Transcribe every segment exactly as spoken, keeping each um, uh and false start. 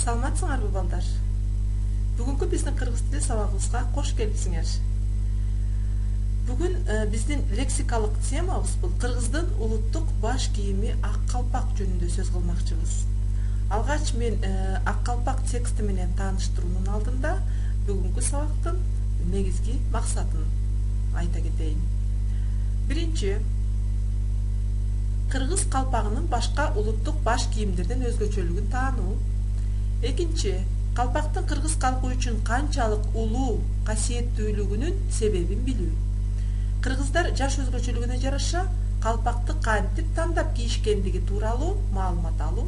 Саламатсыңарбы балдар? Бүгүнкү биздин кыргыз тили сабагыбызга кош келипсиңер. Бүгүн биздин лексикалык темабыз бул кыргыздын улуттук баш кийими ак калпак жөнүндө сөз кылмакчыбыз. Алгач мен ак калпак тексти менен тааныштыруунун алдында бүгүнкү сабактын негизги максатын айта кетейин. Биринчи, кыргыз калпагынын башка улуттук баш кийимдерден өзгөчөлүгүн таануу. Экинчи, калпактын кыргыз калкы үчүн канчалык улуу, касиеттүүлүгүнүн себебин билүү. Кыргыздар жаш өзгөчөлүгүнө жараша калпакты кантип тандап кийишкендиги тууралуу маалымат алуу.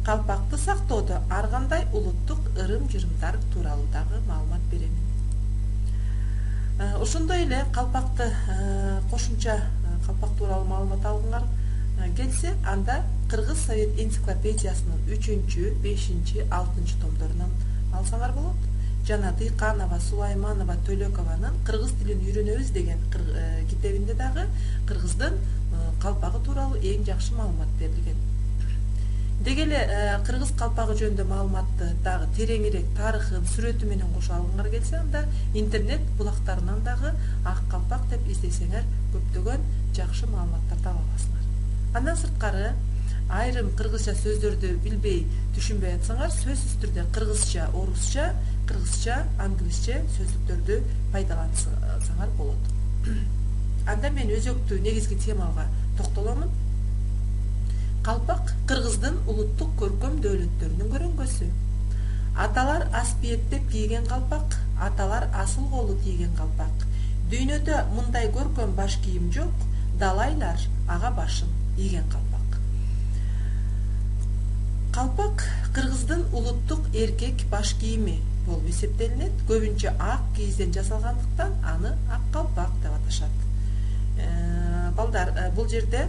Калпакты сактоодо ар кандай улуттук ырым-жырымдар тууралуу дагы маалымат беремин. Ошондой эле калпакты кошумча калпак тууралуу маалымат алгыңар келсе, анда Кыргыз Совет энциклопедиясынын үчүнчү, бешинчи, алтынчы томдорунан алсаңар болот. Жана Дыйканова, Сулайманова, Төлөкованын Кыргыз тилин үйрөнөбүз деген китебинде дагы кыргыздын калпагы тууралуу эң жакшы маалымат берилген. Деги эле кыргыз калпагы жөнүндө маалыматты дагы тереңирээк тарыхын, сүрөтү менен кошо алгыңар келсе, анда интернет булактарынан дагы ак калпак деп издесеңер көптөгөн жакшы маалыматтарды таба аласыңар. Андан сырткары айрым кыргызча сөздөрдү билбей, түшүнбөй атсаңар, сөзсүз түрдө кыргызча, орусча, кыргызча, англисче сөздүктөрдү пайдалансаңар болот. Анда мен өзөктүү негизги темага токтоломун. Калпак кыргыздын улуттук көркөм дөөлөттөрүнүн көрөңгөсү. Аталар аспиеттеп кийген калпак, аталар асыл колу кийген калпак. Дүйнөдө мындай көркөм баш кийим жок, далайлар ага башын ийген калпак. Калпак кыргыздын улуттук эркек баш кийими болуп эсептелинет. Көбүнчө ак кийизден жасалгандыктан аны ак калпак деп аташат. Балдар, бул жерде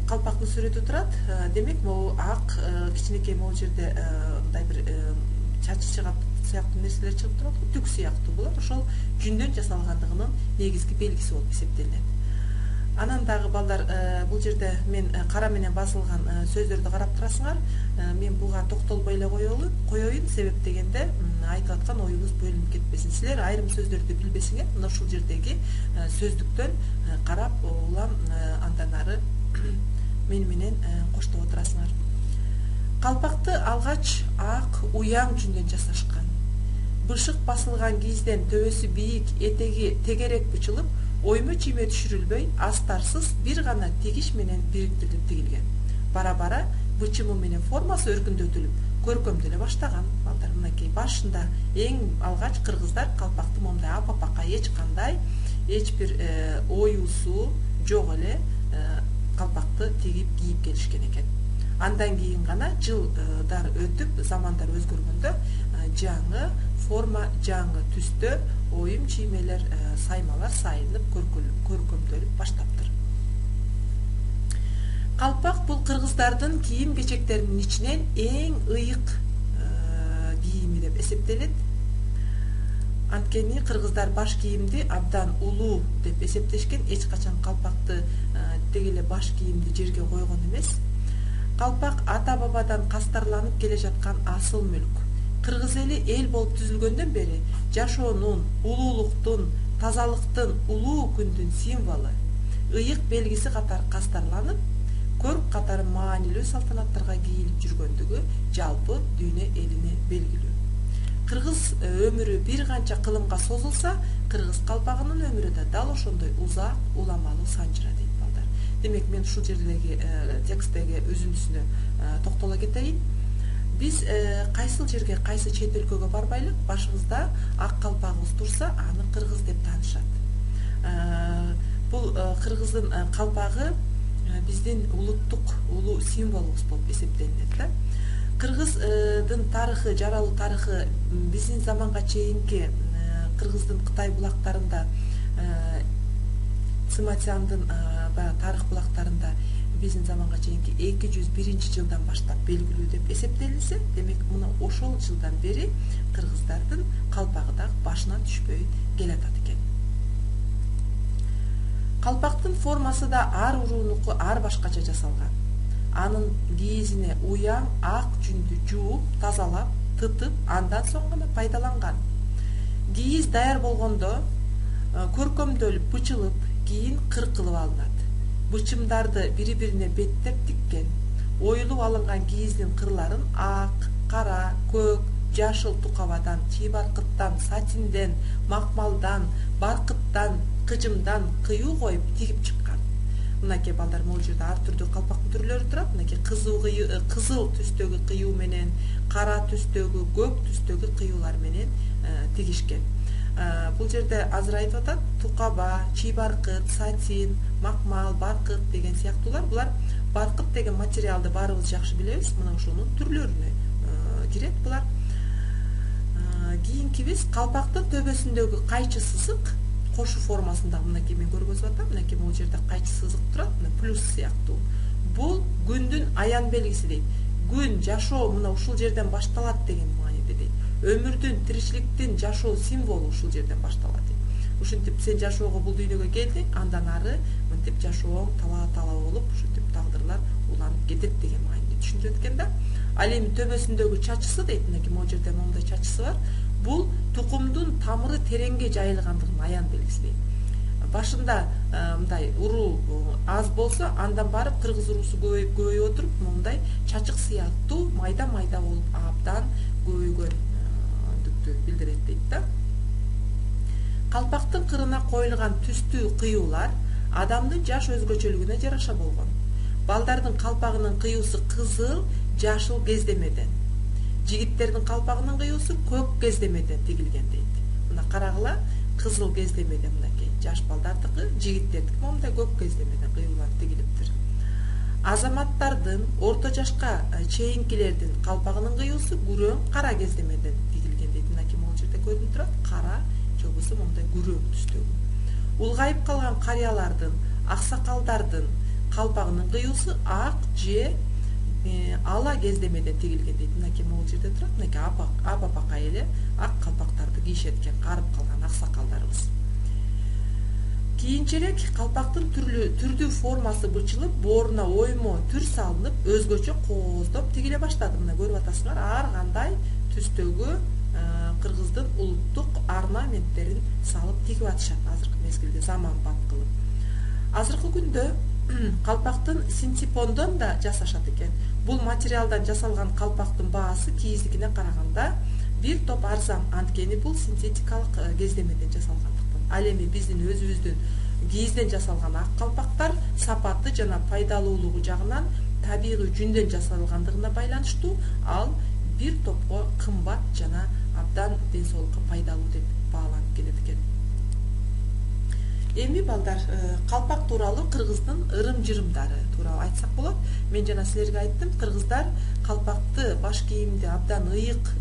калпактын сүрөтү турат. Демек, могу ак кичинекей могу жерде мындай бир чачы чыгат сыяктуу нерселер чыгып турат, түк сыяктуу булар. Ошол жүндөн жасалгандыгынын негизги белгиси болуп эсептелинет. Анан дагы балдар, бул жерде мен кара менен басылган сөздөрдү карап турасыңар. Мен буга токтолбой эле коелу, коеюн, себеп дегенде айтып аткан оюбуз бөлүнүп кетпесин. Силер айрым сөздөрдү билбесиңер, мына ушул жердеги сөздүктөн карап, улам андан ары мени менен коштоп отурасыңар. Калпакты алгач ак уяң жүндөн жасашкан. Бышык басылган кийизден төбөсү бийик, этеги тегерек бычылып, оймө чийме түшүрүлбөй, астарсыз бир гана тигиш менен бириктирилип тигилген. Бара-бара бычымы менен формасы өркүндөтүлүп, көркөмдөлө баштаган. Балдар, мынакей башында эң алгач кыргыздар калпакты момундай апапака эч кандай, эч бир оюусу жок эле калпакты тигип кийип келишкен экен. Андан кийин гана жылдар өтүп, замандар өзгөргөндө жаңы форма, жаңы түстө оюм чиймелер, саймалар сайылып, көркөмдөлүп баштаптыр. Калпак бул кыргыздардын кийим-кечектеринин ичинен эң ыйык кийими деп эсептелет. Анткени кыргыздар баш кийимди абдан улуу деп эсептешкен, эч качан калпакты деги эле баш кийимди жерге койгон эмес. Калпак ата-бабадан кастарланып келе жаткан асыл мүлк. Кыргыз эли эл болуп түзүлгөндөн бери жашоонун, улуулуктун, тазалыктын, улуу күндүн символу, ыйык белгиси катары кастарланып, көрк катары маанилүү салтанаттарга кийилип жүргөндүгү жалпы дүйнө элине белгилүү. Кыргыз өмүрү бир канча кылымга созулса, кыргыз калпагынын өмүрү да дал ошондой узак, уламалуу санжыра дейт балдар. Демек, мен ушул жердеги тексттеги үзүндүсүнө токтоло кетейин. Биз кайсыл жерге, кайсы чет өлкөгө барбайлык, башыбызда ак калпагыбыз турса, аны кыргыз деп таанышат. Бул кыргыздын калпагы биздин улуттук улуу символубуз болуп эсептелинет да. Кыргыздын тарыхы, жаралуу тарыхы биздин заманга чейинки кыргыздын Кытай булактарында, Цыматяндын баягы тарых булактарында биздин заманга чейинки эки жүз биринчи жылдан баштап белгилүү деп эсептелинсе, демек мына ошол жылдан бери кыргыздардын калпагы дагы башынан түшпөй келатат экен. Калпактын формасы да ар уруунуку ар башкача жасалган. анын кийизине уяң ак жүндү жууп тазалап тытып андан соң гана пайдаланган. Кийиз даяр болгондо көркөмдөлүп бычылып кийин кыркылып алынат. Бычымдарды бири-бирине беттеп тиккен. Оюлуп алынган кийиздин кырларын ак, кара, көк, жашыл тукабадан, чыйбаркыттан, сатинден, макмалдан, баркыттан, кыжымдан кыюу коюп тигип чыккан. Мынакей балдар, могул жерде ар түрдүү калпактын түрлөрү турат. Мынакей кызыл кызыл түстөгү кыюу менен, кара түстөгү, көк түстөгү кыюулар менен тигишкен. Бул жерде азыр айтып атат, тукаба, чыйбаркыт, сатин, макмал, баркыт деген сыяктуулар. Булар баркыт деген материалды баарыбыз жакшы билебиз. Мына ошонун түрлөрүнө кирет булар. Кийинкибиз калпактын төбөсүндөгү кайчы сызык кошу формасында. Мынакей мен көргөзүп атам. Мынакей могул жерде кайчы сызык турат, мына плюс сыяктуу. Бул күндүн аян белгиси дейт. Күн, жашоо мына ушул жерден башталат деген мааниде дейт. Өмүрдүн, тиричиликтин жашоо символу ушул жерден башталат дейт. Ушинтип сен жашоого бул дүйнөгө келдиң, андан ары мынтип жашооң талаа-талаа болуп, ушинтип тагдырлар уланып кетет деген мааниде түшүндүрөт экен да. Ал эми төбөсүндөгү чачысы дейт, мынакей могул жерде моундай чачысы бар. Бул тукумдун тамыры тереңге жайылгандыгын аян белгиси дейт. Башында мындай уруу аз болсо, андан барып кыргыз уруусу көбөйүп көбөйүп отуруп, мындай чачык сыяктуу майда-майда болуп абдан көбөйгөндүктү билдирет дейт да. Калпактын кырына коюлган түстүү кыюулар адамдын жаш өзгөчөлүгүнө жараша болгон. Балдардын калпагынын кыюусу кызыл, жашыл кездемеден. Жигиттердин калпагынын кыюусу көк кездемеден тигилген дейт. Мына карагыла, кызыл кездемеден мынакей жаш балдардыкы, жигиттердики момундай көк кездемеден кыюулар тигилиптир. Азаматтардын, орто жашка чейинкилердин калпагынын кыюусу күрөң кара кездемеден тигилген дейт. Мынакей могул жерде көрүнүп турат, кара же болбосо момундай күрөң түстөгү. Улгайып калган карыялардын, аксакалдардын калпагынын кыюусу ак же ала кездемеден тигилген дейт. Мынакей могул жерде турат, мынакей апа-апа эле ак калпактарды кийишет экен, карып калган аксакалдарыбыз. Кийинчерээк калпактын түрдүү формасы бычылып, бооруна оймо түр салынып, өзгөчө кооздоп тигиле баштады. Мына көрүп атасыңар, ар кандай түстөгү кыргыздын улуттук орнаменттерин салып тигип атышат азыркы мезгилде, заманбап кылып. Азыркы күндө калпактын синтепондон да жасашат экен. Бул материалдан жасалган калпактын баасы кийиздикине караганда бир топ арзан, анткени бул синтетикалык кездемеден жасалгандыктан. Ал эми биздин өзүбүздүн кийизден жасалган ак калпактар сапаты жана пайдалуулугу жагынан табигый жүндөн жасалгандыгына байланыштуу, ал бир топко кымбат жана абдан ден соолукка пайдалуу деп бааланып келет экен. Эми балдар, калпак тууралуу кыргыздын ырым-жырымдары тууралуу айтсак болот. Мен жана силерге айттым, кыргыздар калпакты, баш кийимди абдан ыйык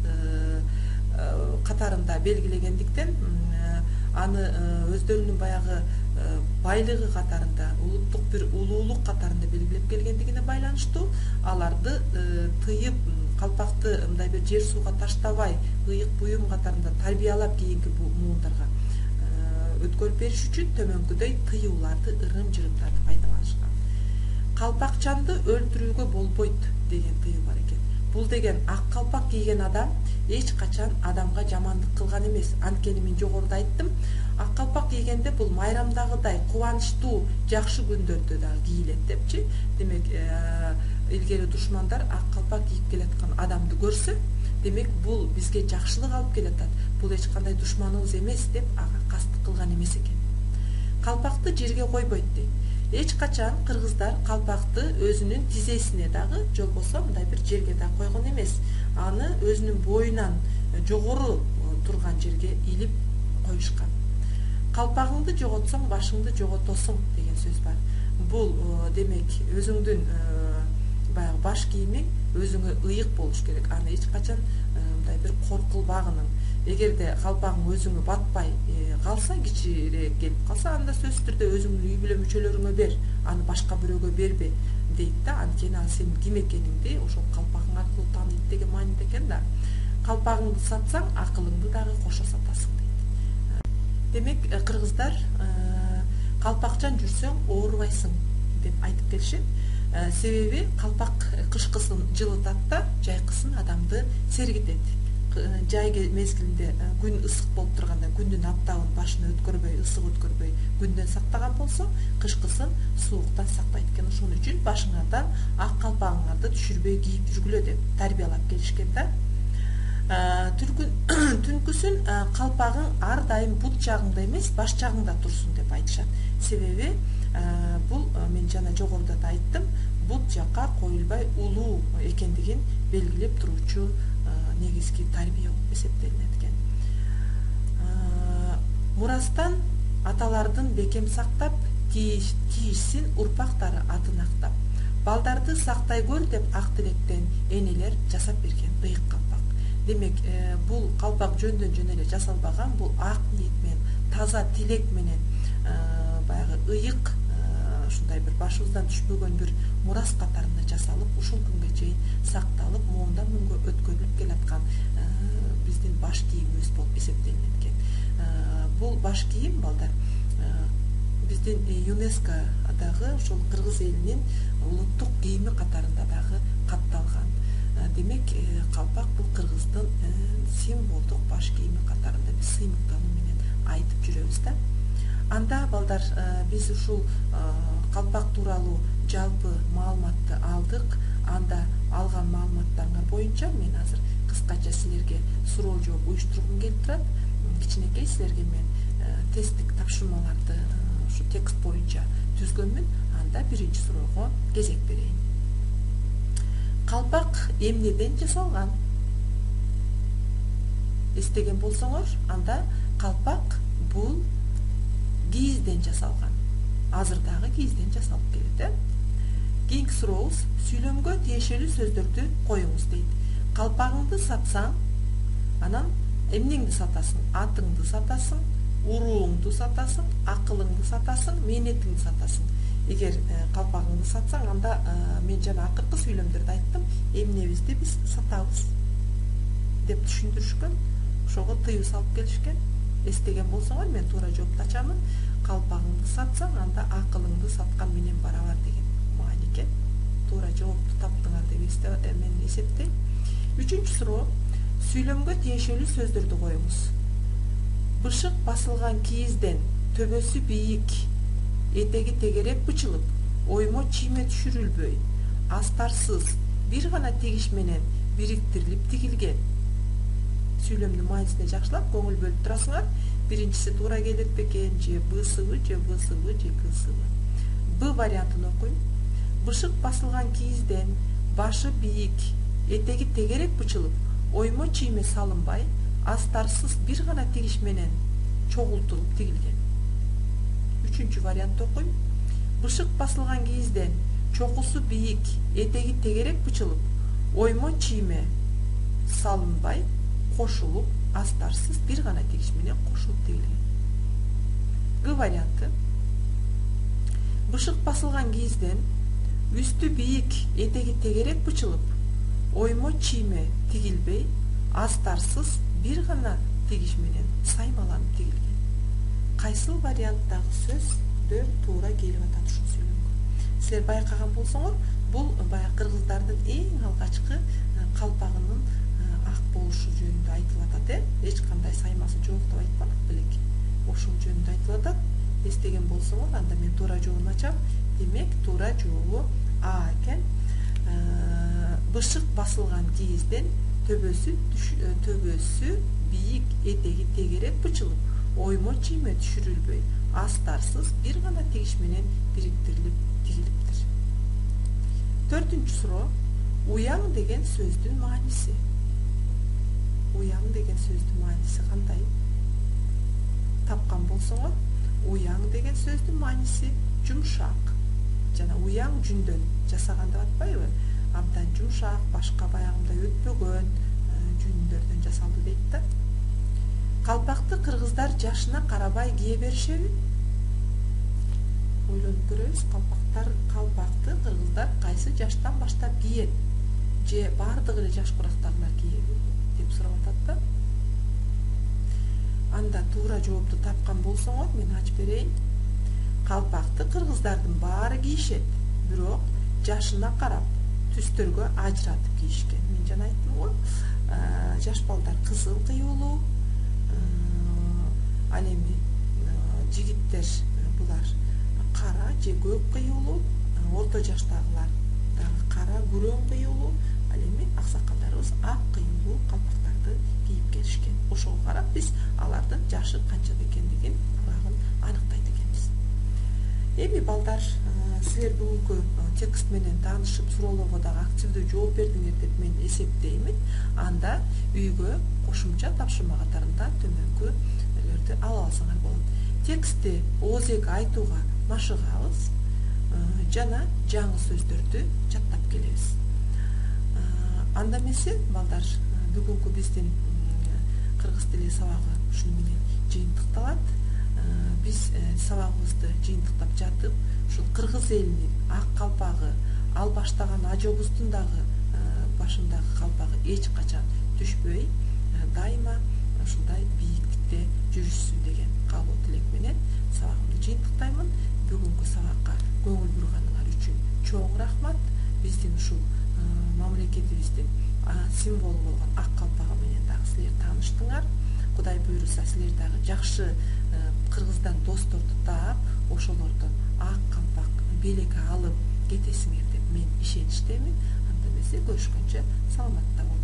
катарында белгилегендиктен, аны өздөрүнүн баягы байлыгы катарында, улуттук бир улуулук катарында белгилеп келгендигине байланыштуу, аларды тыйып, калпакты мындай бир жер сууга таштабай, ыйык буюм катарында тарбиялап кийинки муундарга өткөрүп бериш үчүн төмөнкүдөй тыюуларды, ырым-жырымдарды пайдаланышкан. Калпакчанды өлтүрүүгө болбойт деген тыюу бар экен. Бул деген ак калпак кийген адам эч качан адамга жамандык кылган эмес. Анткени мен жогоруда айттым, ак калпак кийгенде бул майрамдагыдай кубанычтуу, жакшы күндөрдө дагы кийилет депчи. Демек, илгери душмандар ак калпак кийип келаткан адамды көрсө, демек бул бизге жакшылык алып келатат. Бул эч кандай душманыбыз эмес деп ага кастык кылган эмес экен. Калпакты жерге койбойт дейт. Эч качан кыргыздар калпакты өзүнүн тизесине дагы, же болбосо мындай бир жерге да койгон эмес. Аны өзүнүн боюнан жогору турган жерге илип коюшкан. Калпагыңды жоготсоң, башыңды жоготосуң деген сөз бар. Бул демек өзүңдүн баягы баш кийимиң өзүңө ыйык болуш керек. Аны эч качан мындай бир коркулбагының. Эгерде калпагың өзүңө батпай калса, кичирээк келип калса, анда сөзсүз түрдө өзүңдүн үй бүлө мүчөлөрүңө бер, аны башка бирөөгө бербе дейт да. Анткени ал сенин ким экениңди ошол калпагың аркылуу тааныйт деген мааниде экен да. Калпагыңды сатсаң, акылыңды дагы кошо сатасың дейт. Демек, кыргыздар калпакчан жүрсөң оорубайсың деп айтып келишет. Себеби калпак кышкысын жылытат да, жайкысын адамды сергитет. Жай мезгилинде күн ысык болуп турганда күндүн аптабын башына өткөрбөй, ысык өткөрбөй күндөн сактаган болсо, кышкысын сууктан сактайт экен. Ошон үчүн башыңардан ак калпагыңарды түшүрбөй кийип жүргүлө деп тарбиялап келишкен да. Түнкүсүн калпагың ар дайым бут жагыңда эмес, баш жагыңда турсун деп айтышат. Себеби бул мен жана жогоруда да айттым, бут жакка коюлбай улуу экендигин белгилеп туручу негизги тарбия болуп эсептелинет экен. Мурастан аталардын бекем сактап, тийишсин урпактары атын актап. Балдарды сактай көр деп ак тилектен энелер жасап берген ыйык калпак. Демек, бул калпак жөндөн жөн эле жасалбаган, бул ак ниет менен, таза тилек менен баягы ыйык, ушундай бир башыбыздан түшпөгөн бир мурас катарында жасалып, ушул күнгө чейин сакталып, моундан муңга өткөрүлүп келаткан биздин баш кийимибиз болуп эсептелинет экен. Бул баш кийим, балдар, биздин ЮНЕСКО дагы ошол кыргыз элинин улуттук кийими катарында дагы катталган. Демек, калпак бул кыргыздын символдук баш кийими катарында биз сыймыктануу менен айтып жүрөбүз да. Анда, балдар, биз ушул калпак тууралуу жалпы маалыматты алдык. Анда алган маалыматтарыңар боюнча мен азыр кыскача силерге суроо жооп уюштургум келип турат. Кичинекей силерге мен тесттик тапшырмаларды ушу текст боюнча түзгөнмүн. Анда биринчи суроого кезек берейин. Калпак эмнеден жасалган? Эстеген болсоңор, анда калпак бул кийизден жасалган. Азыр дагы кийизден жасалып келет. Кийинки сурообуз, сүйлөмгө тиешелүү сөздөрдү коюңуз дейт. Калпагыңды сатсаң, анан эмнеңди сатасың? Атыңды сатасың, урууңду сатасың, акылыңды сатасың, мээнетиңди сатасың. Эгер калпагыңды сатсаң, анда мен жана акыркы сүйлөмдөрдө айттым, эмнебизди биз сатабыз деп түшүндүрүшкөн. Ошого тыюу салып келишкен. Эстеген болсоңор, мен туура жоопту ачамын. Калпагыңды сатсаң, анда акылыңды саткан менен барабар деген маани экен. Туура жоопту таптыңар деп мен эсептейм. Үчүнчү суроо, сүйлөмгө тиешелүү сөздөрдү коюңуз. Бышык басылган кийизден төбөсү бийик, этеги тегерек бычылып, оймо чийме түшүрүлбөй, астарсыз бир гана тигиш менен бириктирилип тигилген. Сүйлөмдүн маанисине жакшылап көңүл бөлүп турасыңар. Биринчиси туура келет бекен, же бысыбы, же бысыбы, же кысыбы. Б вариантын окуйм. Бышык басылган кийизден башы бийик, этеги тегерек бычылып, оймо чийме салынбай, астарсыз бир гана тигиш менен чогултулуп тигилген. Үчүнчү вариантты окуйм. Бышык басылган кийизден чокусу бийик, этеги тегерек бычылып, оймо чийме салынбай, кошулуп, астарсыз бир гана тигиш менен кошулуп тигилген. Г варианты. Бышык басылган кийизден үстү бийик, этеги тегерек бычылып, оймо чийме тигилбей, астарсыз бир гана тигиш менен саймаланып тигилген. Кайсыл варианттагы сөздөр туура келип атат ушул сүйлөмгө? Силер байкаган болсоңор, бул баягы кыргыздардын эң алгачкы калпагынын ак болушу жөнүндө айтылып атат, э? Эч кандай саймасы жок деп айтпадык белек. Ошол жөнүндө айтылып атат. Эстеген болсоңор, анда мен туура жообун ачам. Демек, туура жообу А экен. Бышык басылган кийизден төбөсү төбөсү бийик, этеги тегерек бычылып, оймо чийме түшүрүлбөй, астарсыз бир гана тигиш менен бириктирилип тигилиптир. Төртүнчү суроо, уяң деген сөздүн мааниси. Уяң деген сөздүн мааниси кандай? Тапкан болсоңор, уяң деген сөздүн мааниси жумшак. Жана уяң жүндөн жасаган деп атпайбы? Абдан жумшак, башка баягындай өтпөгөн жүндөрдөн жасалды дейт да. Калпакты кыргыздар жашына карабай кие беришеби? Ойлонуп көрөбүз, калпактар калпакты кыргыздар кайсы жаштан баштап киет? Же бардыгы эле жаш курактагылар киеби деп сурап атат да. Анда туура жоопту тапкан болсоңор, мен ачып берейин. Калпакты кыргыздардын баары кийишет, бирок жашына карап түстөргө ажыратып кийишкен. Мен жана айттым го, жаш балдар кызыл кыюлуу, ал эми жигиттер булар кара же көк кыюлуу, орто жаштагылар дагы кара күрөң кыюлуу, ал эми аксакалдарыбыз ак кыюлуу калпактарды кийип келишкен. Ошого карап биз алардын жашы канчада экендигин урагын аныктайт экенбиз. Эми балдар, силер бүгүнкү текст менен таанышып, суроолорго дагы активдүү жооп бердиңер деп мен эсептеймин. Анда үйгө кошумча тапшырма катарында төмөнкүлөрдү ала алсаңар болот. Текстти оозеге айтууга машыгабыз жана жаңы сөздөрдү жаттап келебиз. Анда эмесе балдар, бүгүнкү биздин кыргыз тили сабагы ушуну менен жыйынтыкталат. Биз сабагыбызды жыйынтыктап жатып, ушул кыргыз элинин ак калпагы, ал баштаган ажобуздун дагы башындагы калпагы эч качан түшпөй, дайыма ушундай бийиктикте жүрүшсүн деген каалоо тилек менен сабагымды жыйынтыктаймын. Бүгүнкү сабакка көңүл бурганыңар үчүн чоң рахмат. Биздин ушул мамлекетибиздин символу болгон ак калпагы менен дагы силер тааныштыңар. Кудай буйруса, силер дагы жакшы кыргыздан досторду таап, ошолордон ак калпак белек алып кетесиңер деп мен ишеничтемин. Анда эмесе көрүшкөнчө саламатта болуңар.